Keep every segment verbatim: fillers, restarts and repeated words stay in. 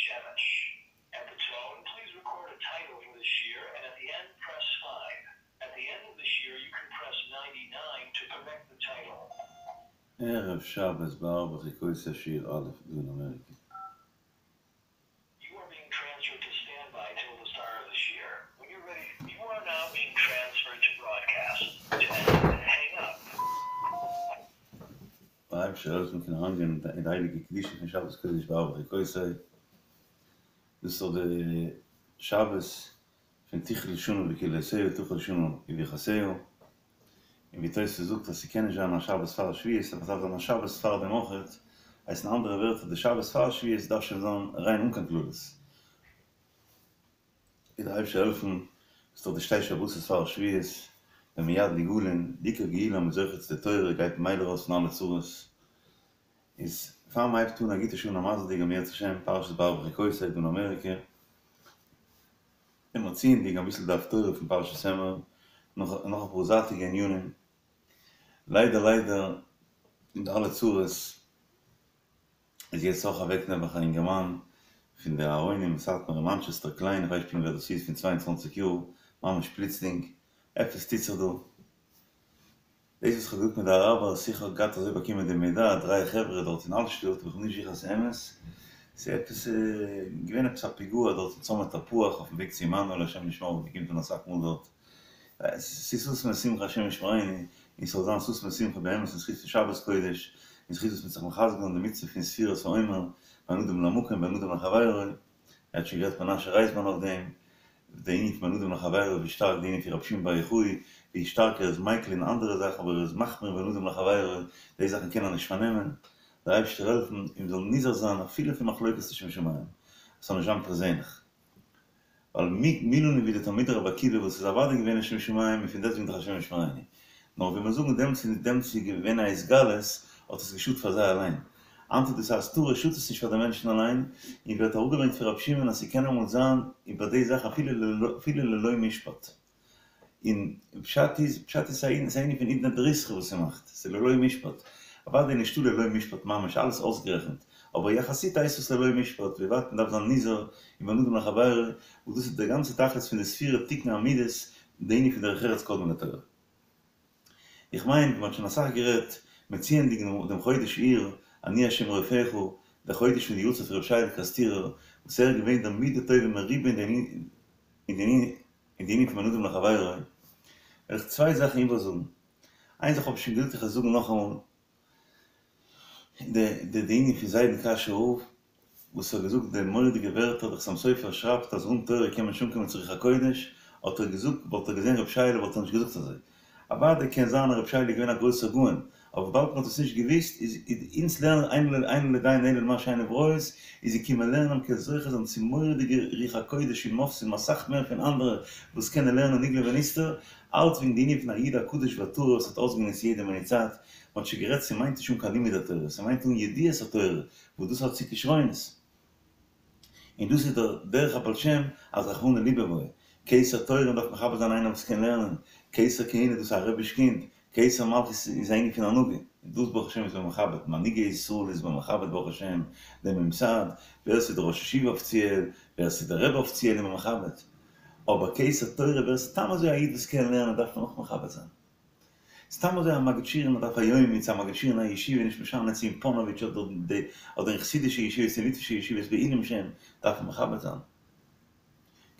Shemesh. At the tone, please record a title for this year, and at the end, press five. At the end of this year, you can press ninety-nine to correct the title. ערב שבת בהר בחוקותי שיעור א' דא אין אמעריקע. You are being transferred to standby till the start of this year. When you're ready, you are now being transferred to broadcast. To end, hang up. דער אייבערשטער זאל העלפן קענען אריינגיין אין די הייליגע קדושה פון שבת קודש בהר בחוקותי. דאס איז דאך די שבת פון תכלה שנה וקללותיה תחל שנה וברכותיה. און ווי תוספות זאגט אז ס'קען נישט זיין א שבת פאר שבועות, אבער ס'דארף זיין א שבת פאר דעם אויכעט. הייסט אין אנדערע ווערטער, די שבת פאר שבועות דארף שוין זיין ריין אן קיין קללות. וועט דער אייבערשטער העלפן, ס'איז דאך די שתי שבתות פאר שבועות, ווען מיד נגאלין, די עיקר גאולה מ'איז זוכה צו די תורה, גייט ממילא ארויס פון אלע צרות. איז פאר מ'הייבט אן א גוטע שעה און א מזל'דיגע אם ירצה השם, פרשת בהר בחוקותי דא אין אמעריקע, און מציענדיג אביסל די הפטורה פון פרשת אמור, נאך נאך אפאר זייטיגע ענינים, ליידער ליידער אין די אלע צרות איז יעצט אויך אוועק נעבעך א אינגערמאן פון די אהרונים אין סאטמאר אין מאנטשעסטער קליין, איך ווייס נישט פונקט ווער דאס איז, פון צוויי און צוואַנציק יאר, ממש פלוצלינג, עפעס טוט זיך דא. דאס וואס כ'האב געזאגט מיט די אראבערס, איך האב געהאט אזוי באקומען די מידע, דריי חברה דארט אין אלטשטאט, אבער כ'בין נישט זיכער אז ס'איז אמת, ס'איז עפעס געווען עפעס א פיגוע דארט אין צומת תפוח אויפן וועג צו עמנואל השם ישמור וואס מ'קומט אן אסאך מאל דארט, ס'איז ששון ושמחה השם ישמרינו, און ס'זאל זיין ששון ושמחה באמת אין זכות פון שבת קודש, אין זכות וואס מ'האט זיך מחזק געווען די מצוה פון ספירת העומר, בין אדם למקום בין אדם לחבירו, ער האט שוין גערעדט מנשה רייזמאן אויף דעם, די ענין פון בין אדם לחבירו ווי שטארק די ענין פון רבי שמעון בר יוחאי, ווי שטארק ער איז מיקל אין אנדערע זאכן אבער ער איז מחמיר בין אדם לחבירו, די זאכן קען ער נישט פארנעמען, דער אייבערשטער העלפן און מ'זאל נזהר זיין אפילו פון מחלוקת לשם שמים, עס זאל נישט זיין פערזענליך. ווייל מי לנו ווי די תלמידי רבי עקיבא וואס איז אוודאי געווען לשם שמים און פון דעסטוועגן דאך השם ישמרינו. נאר ווי מיר זאגן דעמאלטס איז דעמאלטס איז געווען א התגלות האט עס געשאדט פאר זיי אליין. היינט איז דאס א הסתרה שאדט עס נישט פאר די מענטשן אליין, און ווערט אראפגעברענגט פון רבי שמעון אז ס'קען אמאל זיין איבער די זאך אפילו ללא משפט. און פשט איז, פשט איז ס'איז א ענין פון עידנא דריתחא וואס ס'מאכט, ס'איז ללא משפט. אוודאי נישטא ללא משפט ממש, אלעס אויסגערעכנט, אבער יחסית הייסט עס ללא משפט, ווי ווייט מ'דארף זיין נזהר אין בין אדם לחבירו, וואס דאס איז דער גאנצער תכלית פון די ספירה תיקון המידות, די ענין פון דרך ארץ קדמה לתורה. איך מיין, מ'האט שוין אסאך גערעדט, מציענדיג דעם חודש אייר, אני ה' רופאיך, דער חודש פון די יארצייט פון ר' שייעלע קערעסטירער, וואס ער איז געווען דער מידה טובה מרובה אין די אין די ענין פון בין אדם לחבירו, וועל איך צוויי זאכן איבערזאגן. איין זאך האב איך שוין געזאגט איך וועל זאגן נאכאמאל, די די די ענין פון זיידן קאשוי רב, וואס האט געזאגט די מורא'דיגע ווערטער, דער חתם סופר שרייבט אז אן תורה קען מען נישט אנקומען צו רוח הקודש, האט ער געזאגט, וואלט ער געזען רבי שייעלע וואלט ער נישט געזאגט אזוי. אוודאי קען זיין אז רבי שייעלע איז געווען א גרויסער גאון, אבער וויבאלד מען האט עס נישט געוואוסט איז אונז לערנען אין לו לדיין אלא למה שעיניו רואות, איז געקומען לערנען מ'קען זוכה זיין צו מורא'דיגע רוח הקודש און מופתים אסאך מער פון אנדערע וואס קענען לערנען נגלה ונסתר, אלץ וועגן די ענין פון א איד א קדוש וטהור וואס האט אויסגענוצט יעדע מינוט צייט, מען האט שוין גערעדט ס'מיינט נישט אן קיין לימוד התורה, ס'מיינט אן ידיעת התורה וואס דאס האט צו כשרונות. און דאס איז דער דרך הבעל שם אז רחמנא ליבא בעי, כתר תורה מ'דארף מכבד זיין איינער וואס קען לערנען, כתר כהונה דאס איז א רביש קינד, כתר מלכות איז א ענין פון הנהגה, און דאס ברוך השם איז מען מכבד, מנהיגי ישראל איז מען מכבד ברוך השם, דעם ממסד, ווער ס'איז דער ראש ישיבה אפיציעל, ווער ס'איז דער רבי אפיציעל איז מען מכבד, אבער כתר תורה ווער סתם אזוי א איד וואס קען לערנען דארף מען אויך מכבד זיין. סתם אזוי א מגיד שיעור אין א דף היומי צו א מגיד שיעור אין א ישיבה נישט משנה צו אין פאנאוויטש אדער אדער אין חסידישע ישיבות צו ליטווישע ישיבות בעילום שם דארף מען מכבד זיין.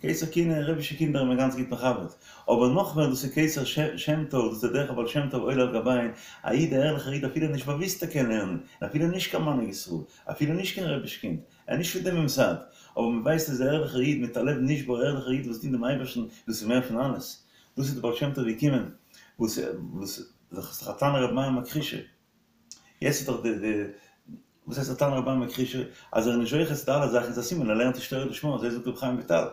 כתר כהונה רבישע קינדער איז מען גאנץ גוט מכבד. אבער נאך מער דאס איז כתר שם טוב דאס איז דער דרך הבעל שם טוב עולה על גביהן א איד א ערליכער איד אפילו נישט באוויסט ער קען לערנען און אפילו נישט קיין מנהיג ישראל אפילו נישט קיין רביש קינד ער איז נישט פון דעם ממסד אבער מען ווייסט ער איז א ערליכער איד מיט א לב נשבר א ערליכער איד וואס דינט דעם אייבערשטן דאס איז מער פון אלעס. דאס איז די בעל שם טוב געקומען וואס וואס דאך איז דאך א תנא רבי מאיר מכחישא יעצט איז דאך די די וואס הייסט א תנא רבי מאיר מכחישא אז ער איז נישט זוכה צו די אלע זאכן איז א סימן ער לערנט נישט תורה לשמה אזוי זאגט רבי חיים וויטאל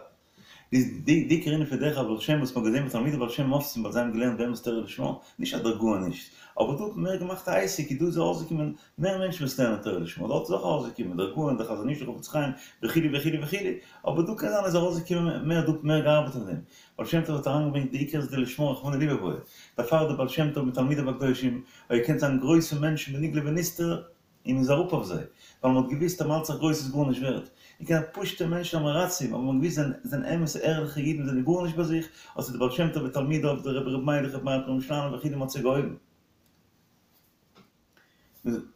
איז די די עיקר ענין פון דרך הבעל שם וואס מ'האט געזען ביי תלמידי בעל שם מופתים ווייל זיי האבן געלערנט באמת תורה לשמה נישט אז דער גאון נישט אבער דא האט מען מער געמאכט א עסק איז דא איז ארויסגעקומען מער מענטשן וואס לערנען תורה לשמה, דארט איז אויך ארויסגעקומען דער גאון, דער חזון איש, דער חפץ חיים, וכו' וכו' וכו', אבער דא קען זיין איז ארויסגעקומען מער, דא האט מען מער געארבעט אויף דעם. בעל שם טוב האט אריינגעברענגט די עיקר איז די לשמה רחמנא ליבא בעי, דערפאר דער בעל שם טוב מיט תלמידיו הקדושים, האט געקענט זיין גרויסע מענטשן בנגלה ונסתר, און מ'איז אראפ אויף זיי, ווייל מ'האט געוואוסט אז מ'האלט זיך גרויס איז גארנישט ווערט. און קיין פשוט'ע מענטשן עם הארצים, אבער מ'האט געוואוסט זיי זענען אמת'ע ערליכע אידן זענען גארנישט ביי זיך, האט זיי דער בעל שם טוב ותלמידיו, דער רבי ר' מיילעך רבי מאיר פרעמישלאנער וכו' מ'האט זיי געהויבן.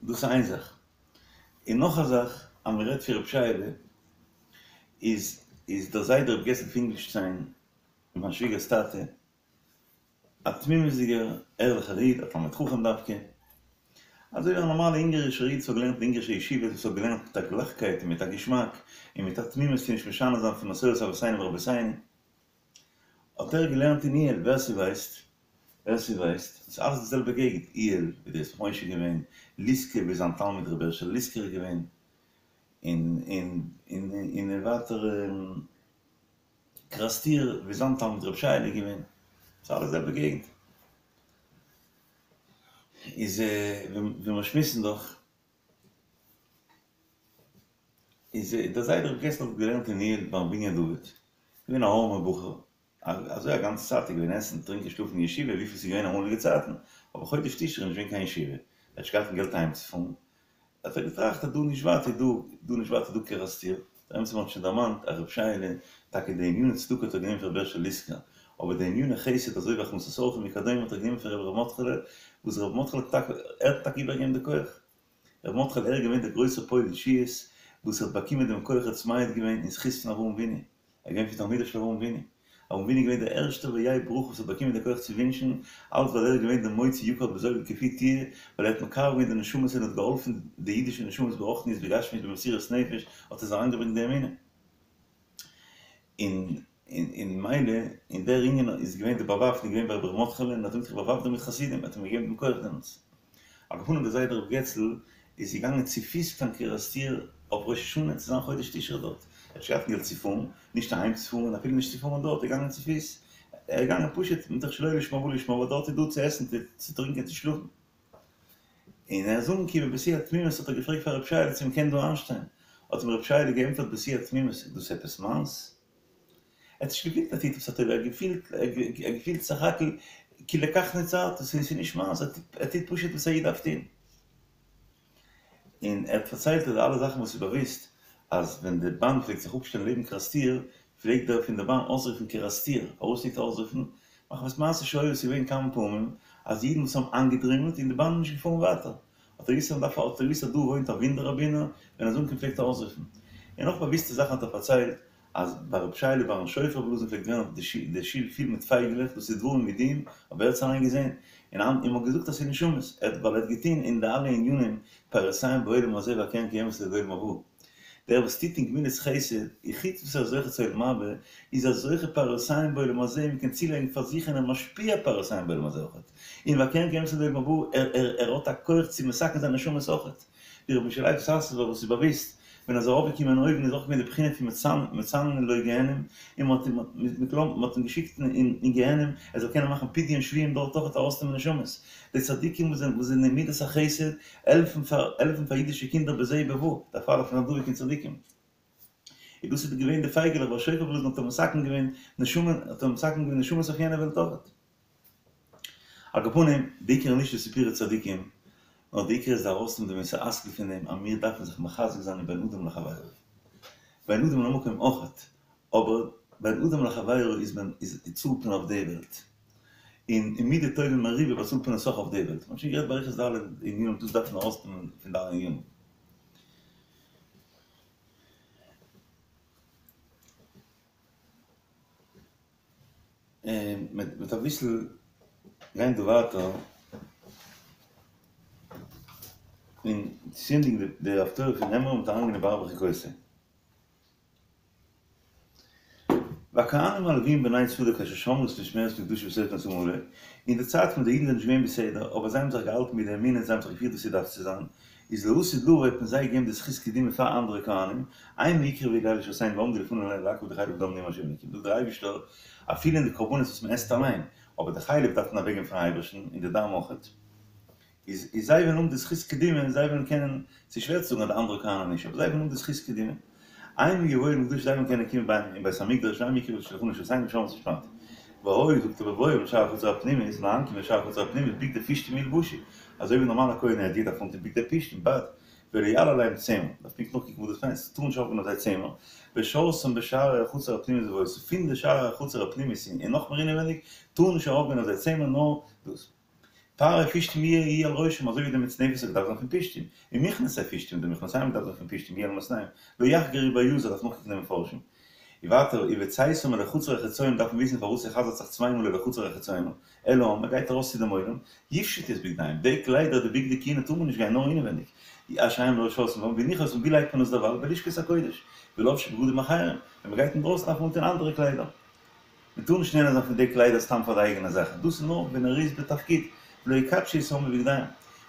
דאס איז איין זאך. און נאך א זאך, אז מ'רעדט פון רב שייעלע, איז איז דער זיידע רב געצל פינקלשטיין, מיין שוויגער'ס טאטע, א תמימות'דיגער ערליכער איד, א תלמיד חכם דווקא, אזוי ווי א נארמאלע אונגארישער איד וואס האט געלערנט אין אונגארישע ישיבות, וואס האט געלערנט מיט א גלייכקייט און מיט א געשמאק, און מיט א תמימות צו נישט משנה זיין פון מסורת אבותינו ורבותינו, האט ער געלערנט אין איהעל, ווער ס'ווייסט, ווער ס'ווייסט, ס'איז אלעס די זעלבע געגנט, איהעל ווי דער ישמח משה איז געווען, ליסקא ווי זיין תלמיד רבי הערשעלע ליסקער איז געווען, און און און און ווייטער קערעסטיר ווי זיין תלמיד רבי שייעלע איז געווען, ס'איז אלעס די זעלבע געגנט. איז ווי מיר שמועסן דאך, איז דער זיידע רבי געצל האט געלערנט אין איהעל ביים בנין דוד, געווען א ארעמער בחור, אזוי א גאנצע צייט איז געווען עסן, טרינקען, שלאפן אין ישיבה, וויפיל ס'איז געווען אמאליגע צייטן, אבער חודש תשרי איז נישט געווען קיין ישיבה, ער האט נישט געהאט קיין געלט אהיימצופארן, האט ער געטראכט אז דא נישט ווייט איז דא, דא נישט ווייט איז דא קערעסטיר, דער אמת איז מען האט שוין דערמאנט אז רב שייעלע, טאקע די עניני צדקה האט ער גענומען פון רבי הערשעלע ליסקער, אבער די עניני חסד אזוי ווי הכנסת אורחים וכדומה האט ער גענומען פון רבי ר' מרדכי'לע, וואס רבי מרדכי'לע האט טאקע, ער האט טאקע איבערגעגעבן די כח. רבי מרדכי'לע ער איז געווען דער גרויסער פועל ישועות וואס האט באקומען דעם כח האט מעיד געווען אין זכות פון אברהם אבינו, ער איז געווען פון תלמידיו של אברהם אבינו, אברהם אבינו איז געווען דער ערשטער והיה ברכה וואס האט באקומען די כח צו ווינטשן, אלץ ווייל ער איז געווען דער מוציא יקר בזול כפי תהיה, ווייל ער האט מקרב געווען די נשמות און האט געהאלפן די אידישע נשמות ברוחניות ובגשמיות במסירות נפש האט ער זיי אריינגעברענגט די אמונה. און און מילא אין דער ענין איז געווען די באוואפן איז געווען ביי רבי ר' מרדכי'לע און האט אים זיך באוואפנט מיט חסידים האט אים געגעבן דעם כח דעמאלטס. על כל פנים דער זיידע ר' געצל איז געגאנגען צופיס קיין קערעסטיר אויף ראש השנה צו זיין חודש תשרי דארט, ער האט נישט געהאט געלט צו פארן, נישט אהיים צו פארן און אפילו נישט צו פארן דארט, ער איז געגאנגען צופיס, ער איז געגאנגען פשוט מתוך שלא לשמה בא לשמה ווייל דארט איז דא צו עסן צו טרינקען צו שלאפן. און ער איז אנגעקומען בשיא התמימות האט ער געפרעגט פאר רב שייעלע צו מ'קען דא איינשטיין, האט אים רב שייעלע געענטפערט בשיא התמימות, איז דאס עפעס מיינס? ער האט נישט געפילט ער טוט עפעס א טובה, ער האט געפילט ער האט געפילט סך הכל כי לכך נוצרת, ס'איז נישט מיינס, ער טוט פשוט וואס א איד דארף טון. און ער האט פארציילט אז די אלע זאכן וואס איז באוואוסט אז ווען די באן פלעגט זיך אפשטעלן לעבן קערעסטיר פלעגט דער פון די באן אויסרופן קערעסטיר, פארוואס פלעגט ער אויסרופן? מחמת מעשה שהיה עס איז געווען כמה פעמים אז אידן וואס האבן איינגעדרימלט און די באן איז נישט געפארן ווייטער האט ער געוואוסט אז מ'דארף האט ער געוואוסט אז דא וואוינט א ווינדער ראבינער ווען ער איז אנגעקומען פלעגט ער אויסרופן. און נאך באוואוסטע זאכן האט ער פארציילט אז ביי רב שייעלע ביים שופר בלאזן פלעגט ווערן די שול פיל מיט פייגעלעך, דאס איז דברים ידועים, אבער ער האט עס אליין געזען, און און מ'האט געזאגט אז ס'איז נשמות, ער האט ווייל ער האט געטון אין די אלע ענינים פירותיהם בעולם הזה והקרן קיימת לעולם הבא. דער וואס טוט אין גמילות חסד, און חוץ וואס ער איז זוכה צו עולם הבא, איז ער זוכה פירותיהם בעולם הזה, מ'קען צולייגן פאר זיך און ער משפיע פירותיהם בעולם הזה אויכעט, און והקרן קיימת לעולם הבא, ער ער ער האט א כח צו מתקן זיין נשמות אויכעט. ווי רבי משה לייב סאסובער וואס איז באוויסט ווען ער איז ארויפגעקומען אויבן איז אויך געווען די בחינה פון מצננין לו גיהנום און מען האט אים מען האט אים געשיקט אין גיהנום ער זאל קענען מאכן פדיון שבויים דארט אויך ארויסנעמען נשמות די צדיקים וואס זענען וואס זענען אין מידת החסד העלפן פאר העלפן פאר אידישע קינדער בזה ובבא דערפאר דארף מען זיין דבוק אין צדיקים און דאס איז געווען די פייגעלעך ביי שופר בלאזן האט ער מתקן געווען נשמה האט ער מתקן געווען נשמות אויף יענע וועלט אויך. על כל פנים, די עיקר איז נישט די סיפורי צדיקים, נאר די עיקר איז די ארויסנעמען די מוסר השכל פון דעם אז מיר דארפן זיך מחזק זיין אין בין אדם לחבירו. בין אדם למקום אויכעט, אבער בין אדם לחבירו איז מען איז צאלט מען אויף די וועלט. און אין מידה טובה מרובה באצאלט מען עס אויך אויף די וועלט. מ'האט שוין גערעדט באריכות די אלע ענינים, דאס דארף מען ארויסנעמען פון די אלע ענינים. און מ'וועט אביסל גיין דא ווייטער און צוענדיגן די הפטורה פון אמור מ'וועט אריינגיין אין בהר בחוקותי. והכהנים הלוויים בני צדוק אשר שמרו את משמרת מקדשי בתוך נשאם עלה, אין די צייט ווען די אידן זענען נישט געווען בסדר, אבער זיי האבן זיך געהאלטן מיט די אמונה, זיי האבן זיך געפירט ווי ס'דארף צו זיין, איז לעתיד לבוא וועט מען זיי געבן די זכות קדימה פאר אנדערע כהנים, המה יקרבו אלי לשרתני ועמדו לפני להקריב די חלב דם נאום ה' אלוקים, זאגט דער אייבערשטער, אפילו אין די קרבנות וואס מען עסט אליין, אבער די חלב דארף מען אוועקגעבן פארן אייבערשטן, און די דם אויכעט, איז איז זיי וועלן האבן די זכות קדימה און זיי וועלן קענען, ס'איז שווער צו זאגן אז די אנדערע כהנים נישט, אבער זיי וועלן האבן די זכות קדימה, המה יבואו אל מקדשי זיי וועלן קענען קומען ביי אין בית המקדש והמה יקרבו לשולחני לשרתני ושמרו את משמרתי. והיה זאגט ער בבואם לשער החצר הפנימית, ביים אנקומען לשער החצר הפנימית בגדי פשתים ילבשו, אזוי ווי נארמאלע כהן הדיוט דארף אנטון בגדי פשתים, בד, ולא יעלה עליהם צמר, דארף פונקט נאכקוקן וואס דאס מיינט, ס'טאר נישט ארויפגיין אויף זיי צמר, ושרתם בשערי החצר הפנימית ובאותיו, פון די שערי החצר הפנימית און נאכמער אינעווייניג, טאר נישט ארויפגיין אויף זיי צמר נאר דאס. פאר פשתים יהיה על ראשם, אזוי ווי די מצנפת האט געדארפט זיין פון פשתים, און מכנסי פשתים, די מכנסיים האט געדארפט זיין פון פשתים, יהיה על מתניהם, לא יחגרו ביזר, דארף נאכקוקן די מפרשים. און ווייטער, ובצאתם אל החצר החיצונה דארף מען וויסן פארוואס ער חזר'ט זיך צוויי מאל אל החצר החיצונה, אל העם, מען גייט ארויס צו דעם עולם, יפשטו את בגדיהם, די קליידער, די בגדי כהונה טאר מען נישט גיין נאר אינעווייניג, אשר הם לא שרתים בם, והניחו אותם, ווי לייגט מען עס דערווייל? בלשכת הקודש, ולבשו בגדים אחרים, ווען מען גייט אינדרויסן דארף מען אנטון אנדערע קליידער. מען טאר נישט נהנה זיין פון די קליידער סתם פאר די אייגענע זאכן, דאס איז נאר ווען ער איז בתפקיד, ולא יקדשו את העם בבגדיהם,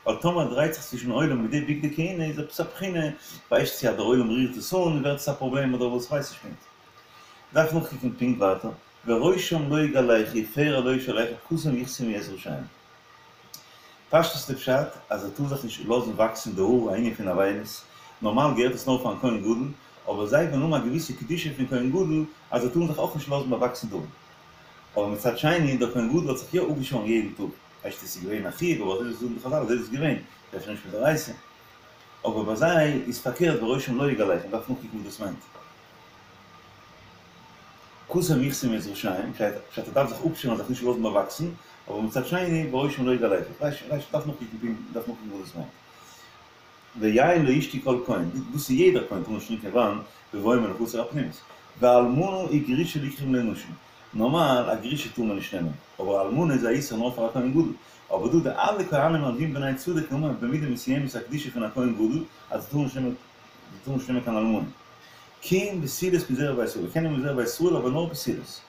ווייל טאמער ער דרייט זיך צווישן עולם מיט די בגדי כהונה איז עפעס א בחינה, ווייסט צו אז דער עולם רירט עס אן ווערט עס א פראבלעם אדער וואס כ'ווייס נישט פונקט. דארף נאכקוקן פונקט ווייטער, וראשם לא יגלחו ופרע לא ישלחו כתם יכתמו את ראשיהם. פשטות איז די פשט אז ער טאר זיך נישט לאזן וואקסן די האר א ענין פון אבילות, נארמאל געהערט עס נאר פארן כהן גדול, אבער זיי וועלן האבן א געוויסע קדושה פון כהן גדול אז זיי טארן זיך אויך נישט לאזן באוואקסן די האר. אבער מצד שני, דער כהן גדול האט זיך יא אפגעשארן יעדן טאג, הייסט עס איז געווען א חיוב, אבער אזוי זאגן די חזל אזוי איז עס געווען, ס'איז אפשר נישט מדאורייתא. אבער ביי זיי איז פארקערט וראשם לא יגלחו, מ'דארף נאכקוקן וואס דאס מיינט. כתם יכתמו את ראשיהם, פשט ער דארף זיך אפשערן זיך נישט לאזן באוואקסן, אבער מצד שני וראשם לא יגלחו, כ'ווייס נישט, מ'דארף נאכקוקן מ'דארף נאכקוקן וואס דאס מיינט. ויין לא ישתה כל כהן, דאס איז יעדער כהן טאר נישט טרינקען וויין בבואם אל החצר הפנימית. ואלמנה וגרושה לא יקחו לנשים, נארמאל א גרושה טאר מען נישט נעמען, אבער אלמנה איז א איסור נאר פאר א כהן גדול, אבער דא די אלע כהנים הלווים בני צדוק האבן במידה מסוימת א קדושה פון א כהן גדול אז זיי טארן נישט נעמען זיי טארן נישט נעמען קיין אלמנה. כי אם בתולות מזרע בית ישראל, קען נעמען מזרע בית ישראל אבער נאר בתולות.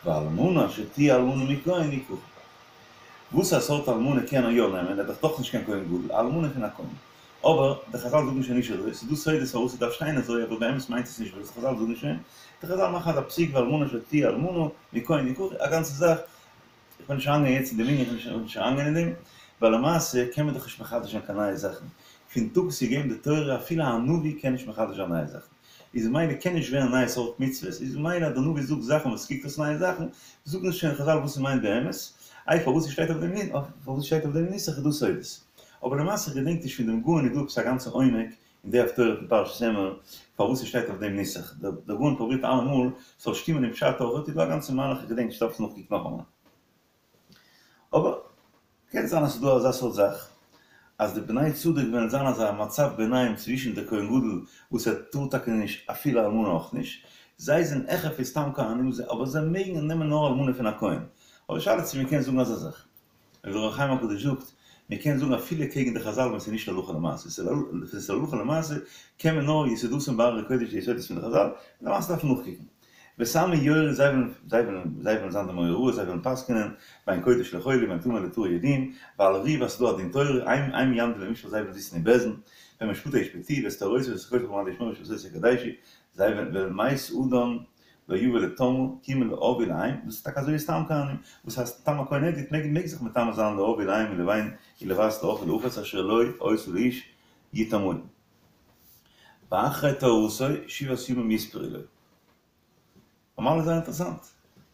ואלמנה אשר תהיה אלמנה מכהן יקחו. וואס א סארט אלמנה קען ער יא נעמען, ער איז דאך דאך נישט קיין כהן גדול, א אלמנה פון א כהן. אבער די חזל זאגן שוין נישט אזוי, ס'איז דא סודות פארוואס ס'דארף שטיין אזוי, אבער באמת מיינט עס נישט וואס חזל זאגן שוין, די חזל מאכן אזא פסוק ואלמנה אשר תהיה אלמנה מכהן יקחו, א גאנצע זאך, איך וויל נישט אריינגיין יעצט אין דעם ענין, איך וויל נישט אריינגיין אין דעם, ווייל למעשה קען מען דאך נישט מחדש זיין קיין נייע זאכן, פון טאג וואס איז געגעבן די תורה אפילו א נביא קען נישט מחדש זיין נייע זאכן, איז ממילא קען נישט ווערן נייע סארט מצוות, איז ממילא אז דער נביא זאגט זאכן וואס קוקט אויס נייע זאכן, זאגן שוין חזל וואס ס'מיינט באמת, איי פארוואס ס'שטייט אויף דעם פארוואס ס'שטייט אויף דעם נוסח איז דא סודות. אבער למעשה איך געדענק נישט פון דעם גאון איז דא עפעס א גאנצע עומק אין די הפטורה פון פרשת אמור פארוואס ס'שטייט אויף דעם נוסח, דער גאון פרובירט אלעמאל ס'זאל שטימען אין פשט אויך, איז דא א גאנצע מהלך איך געדענק נישט דארף עס נאכקוקן נאכאמאל. אבער קען זיין אז ס'איז דא אזא סארט זאך אז די בני צדוק וועלן זיין אזא מצב ביניים צווישן די כהן גדול וואס ער טאר טאקע נישט אפילו אלמנה אויך נישט, זיי זענען העכער פון סתם כהנים אבער זיי מעגן נעמען נאר אלמנה פון א כהן, אבער שאלה צו מ'קען זאגן אזא זאך. ווי דער אור החיים הקדוש זאגט, מען קען זאגן אפילו קעגן די חזל ווען ס'איז נישט הלכה למעשה, ווען ס'איז הלכה למעשה קען מען נאר יסודתן בהררי קודש די יסודות פון די חזל, למעשה דארף מען נאכקוקן. ואת עמי יורו זיי וועלן זיי וועלן זיי וועלן זיין די מורה הוראה זיי וועלן פסק'נען בין קודש לחול ובין טמא לטהור יודיעם, ועל ריב אז ס'איז דא א דין תורה, הם הם יעמדו למשפט זיי וועלן זיצן אין בית דין, ואת משפטי ישפטו ואת תורתי ואת חוקותי למען תשמרו ואת שבתותי תקדשו, זיי וועלן ואל מת אדם לא יבא לטמאה, כי אם לאב ולאם, דאס איז טאקע אזוי ווי סתם כהנים, וואס הייסט סתם א כהן הדיוט מעג מעג זיך מטמא זיין לאב ולאם ולבן ולבת לאח ולאחות אשר לא היתה לאיש יטמאו. ואחרי טהרתו שבעת ימים יספרו לו. נארמאל איז זייער אינטערעסאנט.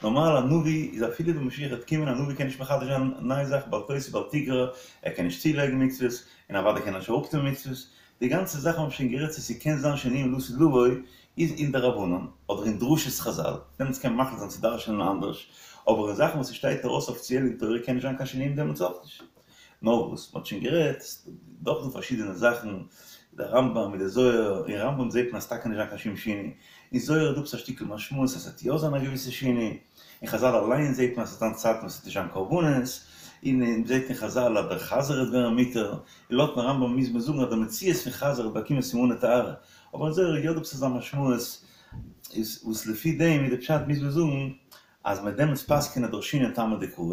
נארמאל א נביא איז אפילו ווען משיח וועט קומען א נביא קען נישט מחדש זיין נייע זאכן בל תוסיף בל תגרע, ער קען נישט צולייגן מצוות, און אוודאי קען ער נישט אראפטון מצוות, די גאנצע זאך האבן שוין גערעדט צו ס'קען זיין שינויים לעתיד לבוא איז אין דרבנן אדער אין דרשות חזל, דעמאלטס קען מען מחליט זיין צו דרש'נען אנדערש, אבער אין זאכן וואס ס'שטייט ארויס אפיציעל אין תורה קען נישט זיין קיין שינויים דעמאלטס אויך נישט. נאר וואס מ'האט שוין גערעדט, דאך דא פארשידענע זאכן, די רמב"ם מיט די זוהר, אין רמב"ם זעט מען אז ס'טאקע נישט זיין קיין שום שינוי, אין זוהר איז דא עפעס א שטיקל משמעות אז ס'וועט יא זיין א געוויסע שינוי, אין חזל אליין זעט מען אז ס'וועט זיין צייטן וואס ס'וועט נישט זיין קרבנות, און מען זעט אין חזל אז דער חזיר וועט ווערן מותר, און לויטן רמב"ם מוז מען זאגן אז דער מציאות פון חזיר וועט באקומען סימני טהרה, אבער אין זוהר איז יא דא עפעס אזא משמעות איז וואס לפי דעם איז די פשט מוז מען זאגן אז מ'וועט דעמאלטס פסק'ענען דרשינן טעמא דקרא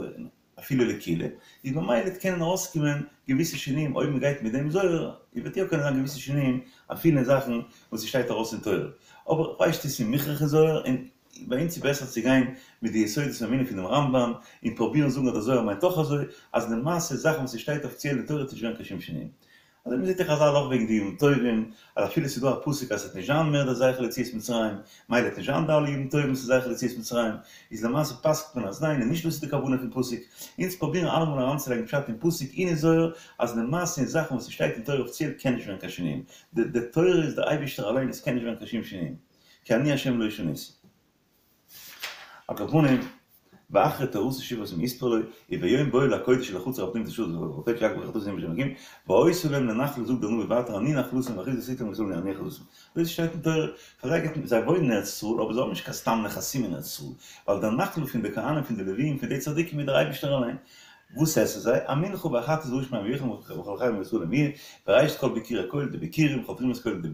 אפילו לקולא, איז ממילא וועט קענען ארויסקומען געוויסע שינויים אויב מ'גייט מיט דעם זוהר, איז וועט יא קענען זיין געוויסע שינויים אפילו אין זאכן וואס ס'שטייט ארויס אין תורה, אבער כ'ווייס נישט צו ס'איז מוכרח אין זוהר און ביי אונז איז בעסער צו גיין מיט די יסודות האמונה פון דעם רמב"ם און פרובירן זאגן אז דער זוהר מיינט אויך אזוי, אז למעשה זאכן וואס ס'שטייט אפיציעל אין תורה וועט נישט ווערן קיין שום שינויים. אזוי מ'זעט אין חזל אויך וועגן די ימים טובים, אז אפילו ס'איז דא א פסוק אז ס'וועט נישט זיין מער די זכר ליציאת מצרים, מילא וועט נישט זיין די אלע ימים טובים ס'איז זכר ליציאת מצרים, איז למעשה פסק'ט מען אז ניין און נישט דאס איז די כוונה פון פסוק, אונז פרובירן אלעמאל אריינצולייגן פשט אין פסוק און אין זוהר, אז למעשה אין זאכן וואס ס'שטייט אין תורה אפיציעל קען נישט ווערן קיין שינויים, די די תורה איז דער אייבישטער אליין עס קען נישט ווערן קיין שום שינויים, כי אני ה' לא שניתי. על כל פנים, ואחרי תורתו שבעת ימים יספר לו, וביום בואו אל הקודש אל החצר הפנימית אשר הקודש יעקב בחצרות יום השם אלקים, והיתה להם לנחלה זאגט דער נביא ווייטער אני נחלתם ואחוזתי להם ישראל אני נחלתם. דאס שטייט אין תורה, פאר זיי גייט זיי וואוינען אין ארץ ישראל אבער זיי האבן נישט קיין סתם נכסים אין ארץ ישראל, ווייל דער נחלה פון די כהנים פון די לוויים פון די צדיקים איז דער אייבערשטער אליין. וואס עסן זיי? המנחה והחטאת והאשם עליהם וכל החייב מישראל להם יהיה, וראשית כל ביכורי כל, די ביכורים, כל תרומת כל די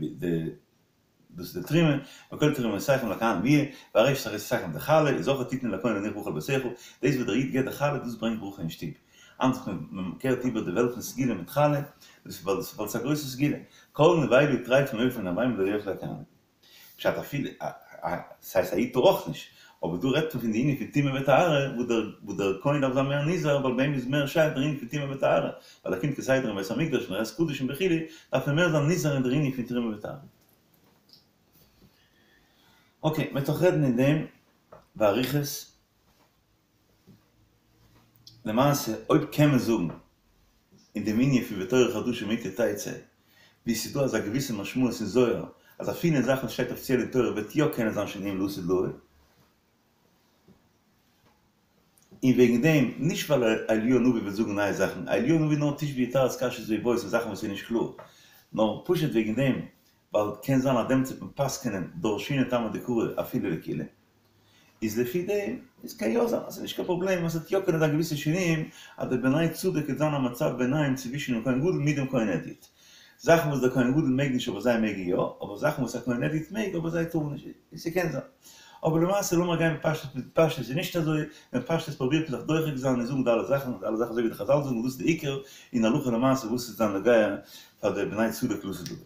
דאס איז די תרומה, וכל תרומותיכם לכהנים יהיה, וראשית אחריתכם די חלה, וזכר תתנו לכהן להניח ברכה על ביתך, דאס וואס דער איד געבט די חלה דאס ברענגט ברכה אין שטוב, אנדערש מען קערט איבער די וועלט פון סגולה מיט חלה, דאס איז ווייל ס'איז א גרויסע סגולה, כל נבילה וטריפה מעוף ומן הבהמה לא יאכלו הכהנים. פשט אפילו, ס'הייסט א איד טאר אויך נישט, אבער דא רעדט מען פון די ענין פון טומאה וטהרה, וואס דער כהן דארף זיין מער נזהר, ווייל ביי אים איז מער שייך דער ענין פון טומאה וטהרה, ווייל ער קומט כסדר אין בית המקדש און ער עסט קדשים וכו', דארף מען מער זיין נזהר אין דער ענין פון תרומה וטהרה. אקעי, מ'וועט נאך רעדן אין דעם באריכות. למעשה, אויב קען מען זאגן אין דעם ענין פון ותורה חדשה מאתי תצא, ווי ס'איז דא אזא געוויסע משמעות אין זוהר, אז אפילו אין זאכן וואס שטייט אפיציעל אין תורה וועט יא קענען זיין שינויים לעתיד לבוא, און וועגן דעם, נישט ווייל אליהו הנביא וועט זאגן נייע זאכן, אליהו הנביא נאר תשבי יתרץ קשיות ואיבעיות און זאכן וואס איז נישט קלאר, נאר פשוט וועגן דעם ווייל קען זיין אז דעמאלטס וועט מען פסק'נען דרשינן טעמא דקרא אפילו לקולא, איז לפי דעם איז קען יא זיין אז ס'איז נישט קיין פראבלעם אז ס'וועט יא קענען זיין געוויסע שינויים אז די בני צדוק וועט זיין א מצב ביניים צווישן דעם כהן גדול מיט דעם כהן הדיוט. זאכן וואס דער כהן גדול מעג נישט אבער זיי מעגן יא, אבער זאכן וואס א כהן הדיוט מעג אבער זיי טארן נישט, און ס'קען זיין. אבער למעשה לאמיר גיין בפשטות, מיט פשטות איז נישט אזוי, בפשטות פרובירט מען זיך דוחק זיין און זאגן די אלע זאכן, די אלע זאכן אזוי ווי די חזל זאגן דאס איז די עיקר אין הלכה למעשה וואס איז דאן נוגע פאר די בני צדוק לעתיד לבוא.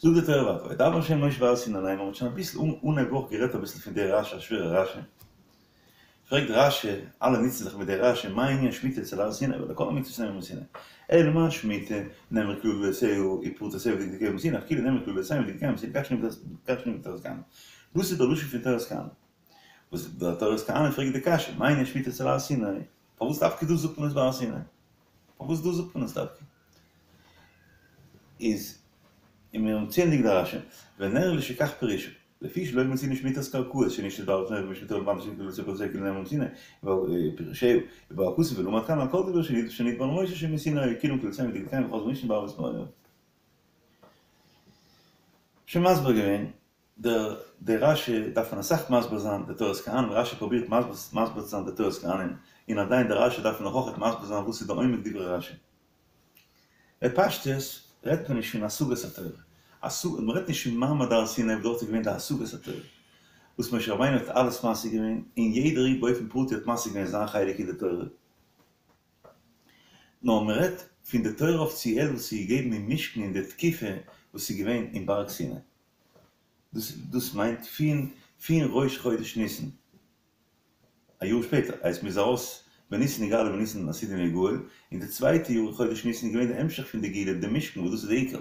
זאגט די תורה ווייטער, וידבר ה' אל משה בהר סיני לאמר, מ'האט שוין אביסל אנהייב וואך גערעדט אביסל פון די רשי, א שווערע רשי, פרעגט רשי, אלע נוצן זיך מיט די רשי, מה ענין שמיטה אצל הר סיני, והלא כל המצוות נאמרו מסיני, אלא מה שמיטה, נאמרו כללותיה ופרטותיה ודקדוקיה מסיני, אף כולן נאמרו כללותיהן ודקדוקיהן מסיני, כך שנית בתורת כהנים. דאס איז דער לשון פון תורת כהנים. וואס דער תורת כהנים פרעגט די קשיא, מה ענין שמיטה אצל הר סיני, פארוואס דווקא דא זאגט מען עס ביי הר סיני? פארוואס דא זאגט מען עס דווקא? איז און מיר האבן צוענדיגט די רשי, ונראה לי שכך פירושו, לפי שלא מצינו שמיטת קרקעות שנשתית בהר סיני ושמיטת לבן שנקרא לצאת כאילו נאמר מסיני, פירושו, ובא הכתוב ולמד כאן על כל דבר שנדבר למשה שמסיני כולם כללותיהם ודקדוקיהם וחזרו משנה בערבות מואב. שוין מסביר געווען, דער דער רשי דארף מען אסאך מסביר זיין די תורת כהנים, רשי פרובירט מסביר צו זיין די תורת כהנים, און עדיין דער רשי דארף מען נאך אויכעט מסביר זיין וואס איז די עומק דברי רשי. בפשטות רעדט מען נישט פון השגת התורה, מען רעדט נישט פון מעמד הר סיני וואס דארט איז געווען די השגת התורה, וואס משה רבינו האט אלעס משיג געווען, און יעדער איד באופן פרטי האט משיג געווען זיין חלק אין די תורה, נאר מען רעדט פון די תורה אפיציעל וואס איז געגעבן אין משכן אין די תקופה וואס איז געווען אין בארג סיני, דאס דאס מיינט פון פון ראש חודש ניסן א יאר שפעטער, הייסט מ'איז ארויס בניסן נגאלו ובניסן עתידין ליגאל, און די צווייטע יאר חודש ניסן איז געווען די המשך פון די גאולה די משכן וואס דאס איז די עיקר,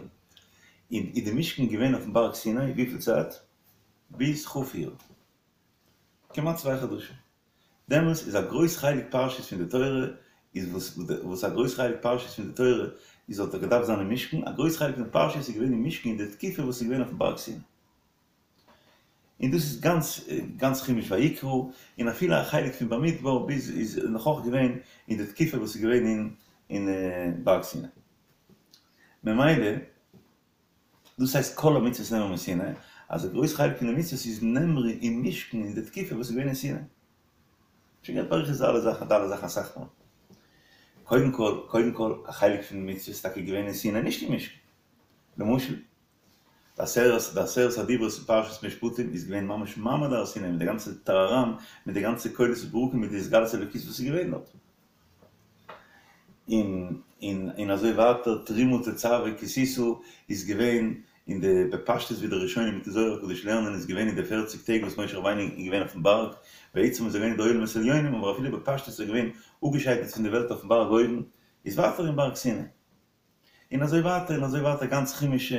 און איז די משכן געווען אויפן בארג סיני וויפיל צייט? ביז כ' אייר, כמעט צוויי חדשים, דעמאלס איז א גרויס חלק פרשיות פון די תורה איז וואס וואס א גרויס חלק פרשיות פון די תורה איז האט געדארפט זיין אין משכן, א גרויס חלק פון די פרשיות איז געווען אין משכן אין די תקופה וואס איז געווען אויפן בארג סיני. און דאס איז גאנץ גאנץ חומש ויקרא, און אפילו א חלק פון במדבר ביז איז נאך אויך געווען אין די תקופה וואס איז געווען אין אין בארג סיני. ממילא דאס הייסט כל המצוות נאמרו מסיני, אז א גרויס חלק פון די מצוות איז נאמרו אין משכן אין די תקופה וואס איז געווען אין סיני. שוין געהאט באריכות די אלע זאכן די אלע זאכן אסאך מאל. קודם כל קודם כל א חלק פון די מצוות איז טאקע געווען אין סיני נישט אין משכן. למשל די עשרת די עשרת הדיברות אין פרשת משפטים איז געווען ממש מעמד הר סיני מיט די גאנצע טאראראם מיט די גאנצע קולות וברקים מיט די התגלות אלוקית וואס איז געווען דארט און און און אזוי ווייטער תרומה תצוה כי תשא איז געווען אין די בפשטות ווי די ראשונים מיטן זוהר הקדוש לערנען איז געווען אין די פערציג טעג וואס משה רבינו איז געווען אויפן בארג בעצם איז ער געווען אין די עולמות עליונים אבער אפילו בפשטות איז ער געווען אפגעשיידט פון די וועלט אויפן בארג אויבן איז ווייטער אין בארג סיני. און אזוי ווייטער און אזוי ווייטער גאנץ חומש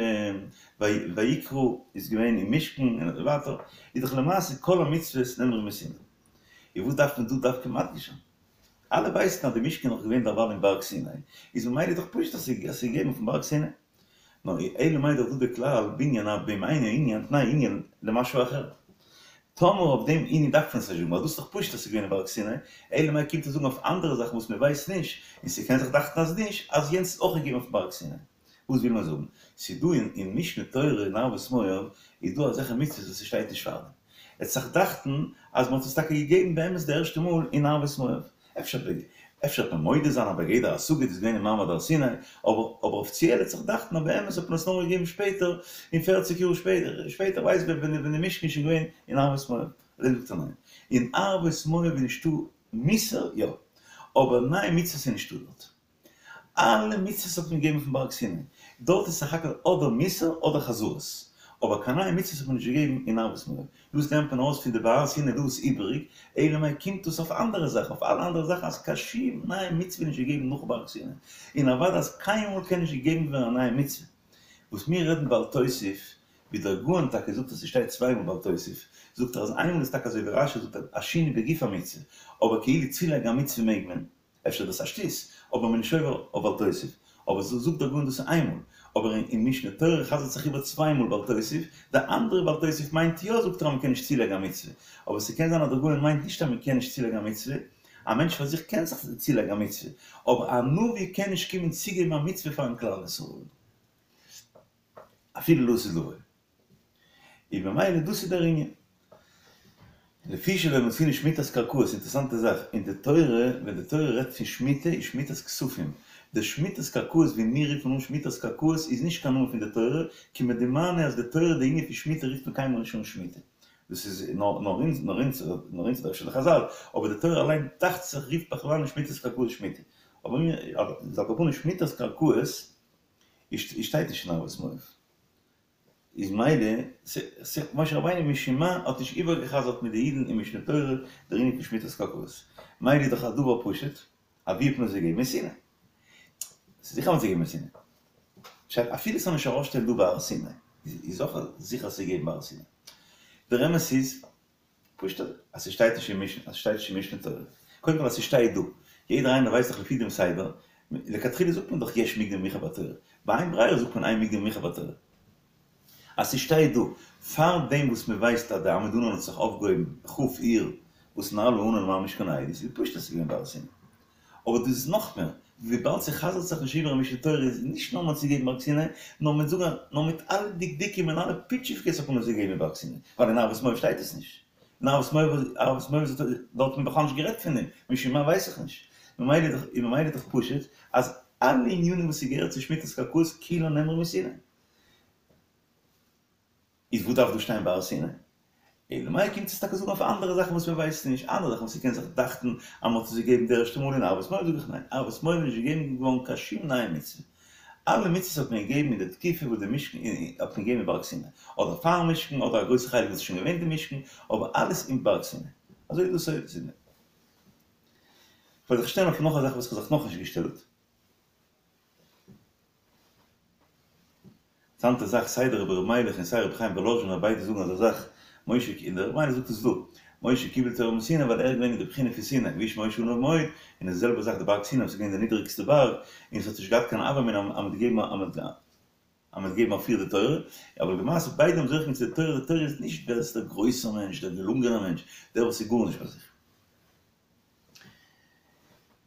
ויקרא איז געווען אין משכן און אזוי ווייטער, איז דאך למעשה כל המצוות נאמרו מסיני. און וואס דארף מען דא דווקא מדגיש זיין? אלע ווייסן אז די משכן איז נאך געווען דערווייל אין בארג סיני, איז ממילא איז דאך פשוט אז ס'איז געגעבן אויפן בארג סיני. נאר אלא מאי דאך דא די כלל בנין אף באם אינו ענין תנאי ענין למשהו אחר. טאמער אויף דעם ענין דארף מען עס נישט זאגן ווייל דאס איז דאך פשוט אז ס'איז געווען אין בארג סיני, אלא מאי קומט ער זאגן אויף אנדערע זאכן וואס מען ווייסט נישט, און ס'קען זיך דאכטן אז נישט, אז יענץ איז אויך געגעבן אויפן בארג סיני. וואס וויל מען זאגן? ס'איז דא אין משנה תורה אין ערבות מואב איז דא אזעלכע מצוות וואס ס'שטייט נישט פארדעם. עס וועט זיך דאכטן אז מ'האט עס טאקע געגעבן באמת די ערשטע מאל אין ערבות מואב. אפשר אפשר וועט מען מודה זיין אז בגדר השגה איז געווען אין מעמד הר סיני, אבער אבער אפיציעל וועט זיך דאכטן אז באמת האט מען עס נאר געגעבן שפעטער, אין פערציג יאר שפעטער, שפעטער ווייסט ווען ווען די משכן איז שוין געווען אין ערבות מואב. אזוי זאגט ער ניין. אין ערבות מואב איז נישטא מוסר, יא. אבער נייע מצוות איז נישטא דארט. אלע מצוות האט מען געגעבן פון בארג סיני, דארט איז סך הכל אדער מוסר אדער חזרות, אבער קיין נייע מצוות האט מען נישט געגעבן אין ערבות מואב, דאס לערנט מען ארויס פון די בהר סיני דא איז איבעריג, אלא מאי קומט דאס אויף אנדערע זאכן, אויף אלע אנדערע זאכן אז קיין שום נייע מצוה איז נישט געגעבן נאך בארג סיני, און אוודאי אז קיינמאל קען נישט געגעבן ווערן א נייע מצוה. וואס מיר רעדן בל תוסיף, ווי דער גאון טאקע זאגט אז ס'שטייט צוויי מאל בל תוסיף, זאגט ער אז איינמאל איז טאקע אזוי ווי רש"י זאגט א שינוי בגוף המצוה, אבער כאילו צולייגן א מצוה מעג מען. אפשר איז דאס א שטות, אבער מען איז נישט עובר אויף בל תוסיף. אבער זאגט דער גאון דאס איז איינמאל. אבער אין משנה תורה חזר'ט זיך איבער צוויי מאל בל תוסיף, די אנדערע בל תוסיף מיינט יא זאגט ער אז מען קען נישט צולייגן א מצוה. אבער ס'קען זיין אז דער גאון מיינט נישט אז מען קען נישט צולייגן א מצוה, א מענטש פאר זיך קען זיך צולייגן א מצוה, אבער א נביא קען נישט קומען צוגעבן א מצוה פארן כלל ישראל. אפילו לעתיד לבוא. איז ממילא דאס איז דער ענין. לפי שלא מצינו שמיטת קרקעות, אינטערעסאנטע זאך, אין די תורה, ווען די תורה רעדט פון שמיטה, איז שמיטת כספים. די שמיטת קרקעות ווי מיר רופן אן שמיטת קרקעות איז נישט קיין נאמען פון די תורה, כמדומני אז די תורה די ענין פון שמיטה רופט מען קיינמאל נישט אן שמיטה. דאס איז נאר אונז, נאר אונז, נאר אונז אדער אפשר די חזל, אבער די תורה אליין דאכט זיך רופט בכלל נישט שמיטת קרקעות שמיטה. אבער מיר, על כל פנים שמיטת קרקעות איז שטייט נישט אין ערבות מואב. איז מילא, משה רבינו משום מה האט נישט איבערגעחזרט מיט די אידן אין משנה תורה דער ענין פון שמיטת קרקעות. מילא איז דאך א דבר פשוט, אז ווי האט מען עס געגעבן? אין סיני. ס'איז זיכער מ'האט עס געגעבן אין סיני. פשט, אפילו ס'זאל נישט ארויסשטיין דא בהר סיני, איז אויך זיכער אז ס'איז געגעבן בהר סיני. דער אמת איז, פשוט אז ס'שטייט נישט אין משנה, אז ס'שטייט נישט אין משנה תורה. קודם כל אז ס'שטייט דא. יעדער איינער ווייסט דאך לפי דעם סדר, לכתחילה זאגט מען דאך יש מוקדם ומאוחר בתורה. באין ברירה זאגט מען אין מוקדם ומאוחר בתורה. אז ס'שטייט דא, פאר דעם וואס מ'ווייסט אז די עמוד ענן האט זיך אויפגעהויבן כ' אייר וואס נעלה הענן מעל משכן העדות, איז פשוט אז ס'איז געווען בהר סיני. אבער דאס איז נאך מער, וויבאלד ס'חזר'ט זיך נישט איבער אין משנה תורה איז נישט נאר מ'האט עס געגעבן בארג סיני, נאר מיט זאגן נאר מיט אלע דקדוקים און אלע פיטשיווקעס האט מען עס געגעבן אין בארג סיני, ווייל אין ערבות מואב שטייט עס נישט. אין ערבות מואב ערבות מואב איז דארט האט מען בכלל נישט גערעדט פון דעם, משום מה ווייס איך נישט. ממילא איז דאך ממילא איז דאך פשוט אז אלע ענינים וואס ס'געהערט צו שמיטת קרקעות כולן נאמרו מסיני. איז וואס דארף דא שטיין בהר סיני? אלא מאי קומט עס טאקע זאגן אויף אנדערע זאכן וואס מען ווייסט נישט, אנדערע זאכן וואס ס'קען זיך דאכטן אז מען האט עס געגעבן די ערשטע מאל אין ערבות מואב, זאג איך ניין, ערבות מואב איז נישט געגעבן געווארן קיין שום נייע מצוה, אלע מצוות האט מען געגעבן אין די תקופה וואס די משכן האט מען געגעבן אין בארג סיני, אדער פארן משכן אדער א גרויסע חלק וואס איז שוין געווען די משכן, אבער אלעס אין בארג סיני. אזוי איז דאס אויך. כ'וועל זיך שטעלן אויף נאך א זאך וואס כ'האב זיך נאכנישט געשטעלט. אינטערעסאנטע זאך, סיי דער רבי ר' מיילעך און סיי רבי חיים וואלאזשינער ביידע זאגן אזא זאך, משה און דער רבי מיילעך זאגט עס דא, משה קיבל תורה מסיני ווייל ער איז געווען אין די בחינה פון סיני, והאיש משה עניו מאוד, און די זעלבע זאך די בארג סיני וואס איז געווען די נידעריגסטע בארג, און עס האט נישט געהאט קיין הוה אמינא אז מ'האט געגעבן אז מ'האט געגעבן אויף איר די תורה, אבער למעשה ביידע האבן זוכה געווען צו די תורה, די תורה איז נישט ווער עס איז דער גרויסער מענטש, דער געלונגענער מענטש, דער וואס איז גארנישט ביי זיך.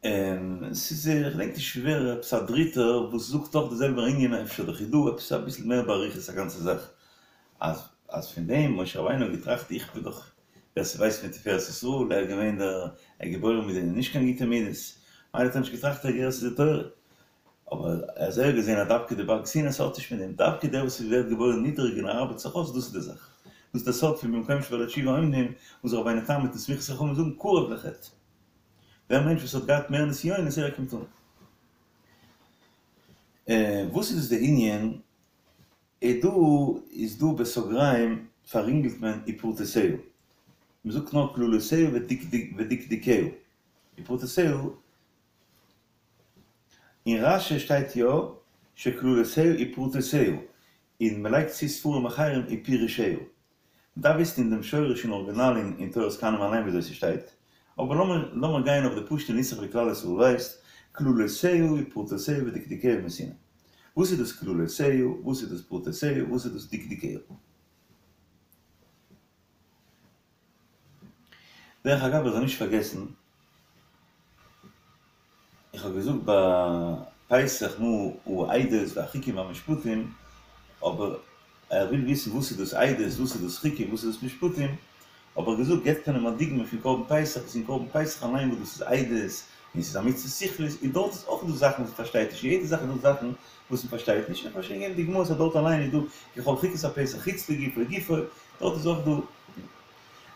און ס'איז איך געדענק נישט ווער עפעס א דריטער וואס זאגט אויך די זעלבע ענין אפשר די חיד"א עפעס אביסל מער באריכות א גאנצע זאך אז אז פון דעם משה רבינו האט געטראכט איך בין דאך ווער ס'ווייסט פון תפארת ישראל ער איז געווען דער ער איז געבוירן מיט די נישט קיין גוטע מידות מילא האט ער נישט געטראכט ער געהערט צו די תורה אבער אז ער האט געזען אז דווקא די בארג סיני ס'האט נישט מיט דעם דווקא דער וואס ווערט געבוירן נידעריג און ער ארבעט זיך אויס דאס איז די זאך דאס איז דער סוד פון במקום שבעלי תשובה עומדים וואס רבינו תם מיטן סמיכת חכמים זאגן קרוב לחטא דער מענטש וואס האט געהאט מער נסיונות ער קומט אן. וואס איז דאס די ענין? איז דא איז דא בסוגריים פאררינגלט מען ופרטותיה. מען זאגט נאר כללותיה ודקדוקיה. ופרטותיה אין רש"י שטייט יא שכללותיה ופרטותיה, און מען לייגט צו ספרים אחרים ופירושיה. מ'דארף וויסן אין דעם שורש אין ארגינאל אין תורת כהנים אליין וויאזוי ס'שטייט, אבער לאמיר לאמיר גיין אויף די פשוט'ע נוסח ווי כלל ישראל ווייסט, כללותיה ופרטותיה ודקדוקיה מסיני. וואס איז דאס כללותיה? וואס איז דאס פרטותיה? וואס איז דאס דקדוקיה? דרך אגב איך זאל נישט פארגעסן, איך האב געזאגט ביי פסח מה העדות והחוקים והמשפטים, אבער ער וויל וויסן וואס איז דאס עדות, וואס איז דאס חוקים, וואס איז דאס משפטים, האב איך געזאגט געבט מען אים א דוגמא פון קרבן פסח, וואס אין קרבן פסח אליין וואס דאס איז עדות, און ס'איז א מצוה שכלית, און דארט איז אויך דא זאכן וואס מ'פארשטייט נישט, אין יעדע זאך איז דא זאכן וואס מ'פארשטייט נישט, איך האב שוין געגעבן דוגמאות אז דארט אליין איז דא ככל חוקת הפסח חוץ לגופו גופו, דארט איז אויך דא.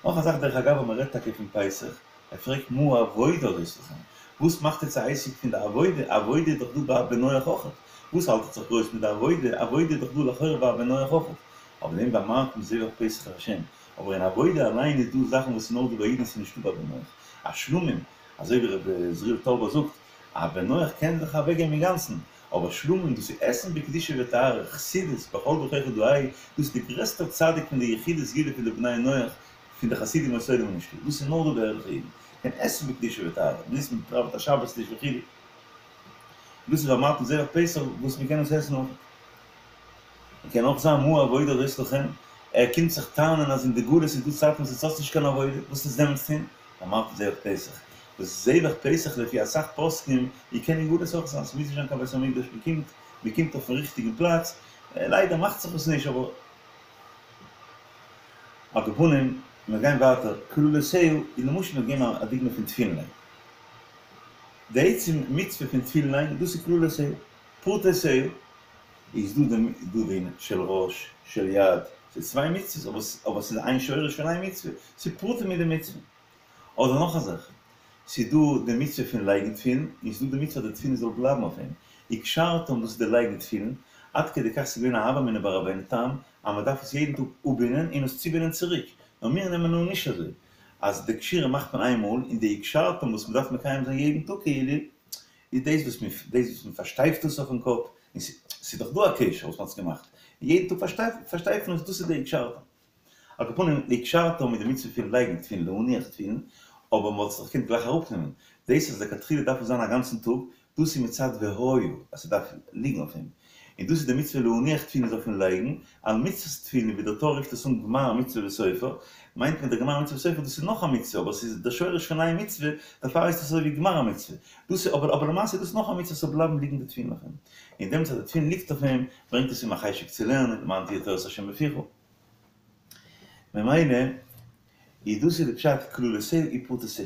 נאך א זאך דרך אגב אז מ'רעדט טאקע פון פסח, ער פרעגט מה העבודה הזאת לכם? וואס מאכט עטס א עסק פון די עבודה? עבודה איז דאך דא ביי א בן נח אויכעט. וואס האלט עטס זיך גרויס מיט די עבודה? עבודה איז דאך דא לכאורה ביי א בן נח אויכעט. אבער דעם ואמרתם זבח פסח לה'. אבער אין עבודה אליין איז דא זאכן וואס איז נאר דא ביי אידן ס'איז נישטא ביי בן נח. א שלמים, אזוי ווי ר' עזריאל טאלבער זאגט, א בן נח קען זיך אוועקגעבן אינגאנצן, אבער שלמים דאס איז עסן בקדושה וטהרה, חסידות, בכל דרכיך דעהו, דאס איז די גרעסטע צדיק פון די יחידי סגולה פון די בני נח, פון די חסידים אומות העולם איז נישטא, דאס איז נאר דא ביי ערליכע אידן, קען עסן בקדושה וטהרה, דאס מען פראוועט א שבת טיש וכו', דאס איז ואמרתם זבח פסח וואס מען קען עס עסן אויך. מען קען אויך זיין מה העבודה הזאת לכם, ער קומט זיך טענה'ן אז אין די גלות איז דא צייטן וואס עטס האטס נישט קיין עבודה, וואס איז דעמאלטס טון? ואמרתם זבח פסח, וואס זבח פסח לפי אסאך פוסקים איר קען אין גלות אויך זיין, ס'מוז נישט זיין קיין בית המקדש, מען קומט מען קומט אויפן ריכטיגן פלאץ, ליידער מאכט זיך עס נישט אבער על כל פנים, מיר גייען ווייטער, כללותיה, און למשל מיר געבן א דוגמא פון תפילין לייגן. די עצם מצוה פון תפילין לייגן, דאס איז כללותיה. פרטותיה, איז דא די דא די של ראש, של יד, ס'איז צוויי מצוות, אבער ס'איז איין שורש פון איין מצוה, ס'איז פרטים אין די מצוה. אדער נאך א זאך, ס'איז דא די מצוה פון לייגן תפילין, און ס'איז דא די מצוה אז די תפילין זאל בלייבן אויף אים. וקשרתם דאס איז די לייגן תפילין, עד כדי כך ס'איז געווען א הוה אמינא ביי רבינו תם אז מ'דארף עס יעדן טאג אפבינדן און עס צובינדן צוריק, נאר מיר נעמען אן נישט אזוי, אז די קשירה מאכט מען איין מאל, און די וקשרתם וואס מ'דארף מקיים זיין יעדן טאג כאילו, איז דאס וואס מ' דאס וואס מ'פארשטייפט עס אויפן קאפ, און ס'איז דאך דא א קשר וואס מ'האט עס געמאכט, און יעדן טאג פארשטייפן עס, דאס איז די וקשרתם. על כל פנים, די וקשרתם איז די מצוה פון לייגן תפילין, להניח תפילין, אבער מ'וואלט עס דאך געקענט גלייך אראפנעמען. דאס אז לכתחילה דארף עס זיין א גאנצן טאג, דאס איז מצד והיה, אז ס'דארף ליגן אויף אים. און דאס איז די מצוה להניח תפילין איז אויפן לייגן, על מצות תפילין ווי דער טור רופט עס אן גמר מצוה וסופר, מיינט מען דער גמר מצוה וסופר דאס איז נאך א מצוה אבער ס'איז דער שורש פון איין מצוה, דערפאר הייסט עס אזוי ווי גמר המצוה. דאס איז אבער אבער למעשה איז דאס נאך א מצוה ס'זאל בלייבן ליגן די תפילין אויף אים. און דעמאלטס אז די תפילין ליגט אויף אים, ברענגט עס אים א חשק צו לערנען, למען תהיה תורת השם בפיך. ממילא איז דאס איז די פשט כללותיה ופרטותיה.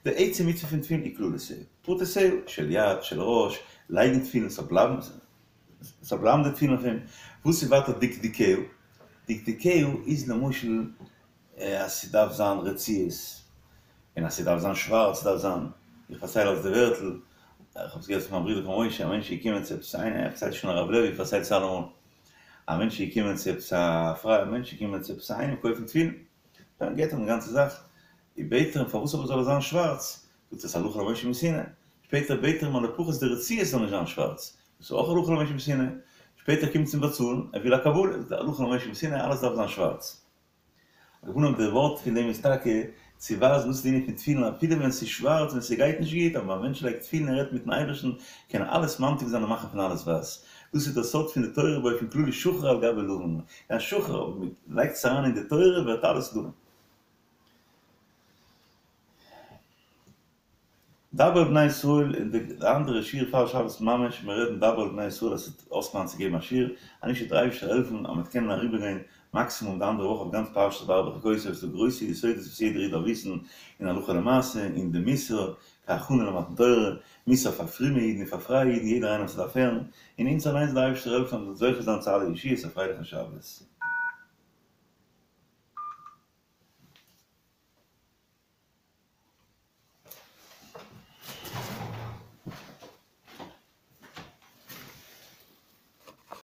די עצם מצוה פון תפילין איז כללותיה. פרטותיה, של יד, של ראש, לייגן תפילין ס'זאל בלייבן, ס'זאל בלייבן די תפילין אויף אים. וואס איז ווייטער דקדוקיה? דקדוקיה איז למשל אז ס'דארף זיין רצועות, און אז ס'דארף זיין שווארץ דארף זיין, איך פארצייל אלס די ווערטל, איך האב עס געהערט פון מיין ברודער פון משה, א מענטש איז געקומען צו עפעס איינער, ער פארציילט שוין הרב לעווי פארציילט עס אלעמאל, א מענטש איז געקומען צו עפעס א פריי, א מענטש איז געקומען צו עפעס איינעם קויפן תפילין, דאן געט ער אים די גאנצע זאך, און בעט ער אים פארוואס אבער זאל עס זיין שווארץ, זאגט ער ס'איז הלכה למשה מסיני, שפעטער בעט ער אים אז לפחות די רצועות זאל נישט זיין שווארץ, דאס איז אויך הלכה למשה מסיני, שפעטער קומט צום באצאלן, ער וויל א קבלה, זאגט ער הלכה למשה מסיני אלעס דארף זיין שווארץ. על כל פנים די ווארט פון דעם איז טאקע צו ווייזן דאס איז די ענין פון תפילין אפילו ווען ס'איז שווארץ ווען ס'גייט נישט גוט אבער ווען א מענטש לייגט תפילין און רעדט מיטן אייבערשטן קען ער אלעס ממתיק זיין און מאכן פון אלעס ווייס. דאס איז דער סוד פון די תורה באופן כללי שחור על גבי לבן. יא שחור אבער מען לייגט עס אריין אין די תורה ווערט אלעס לבן. דבר אל בני ישראל אין די אנדערע שיעור פאר שבת ממש מיר רעדן דבר אל בני ישראל אז ס'וועט אויסקומען צו געבן א שיעור אז נישט וועט דער אייבערשטער העלפן אז מ'וועט קענען אריבערגיין מקסימום די אנדערע וואך אויף גאנץ פרשת בהר בחוקותי ס'איז דא גרויסע יסודות וואס יעדער איד דארף וויסן אין הלכה למעשה אין די מוסר כהכנה למתן תורה מוסר פאר פרומע אידן און פאר פרייע אידן יעדער איינער וואס דארף הערן און אונז אליינס זאל דער אייבערשטער העלפן אז מ'זאל זוכה זיין צו אלע ישועות א פרייליכן שבת.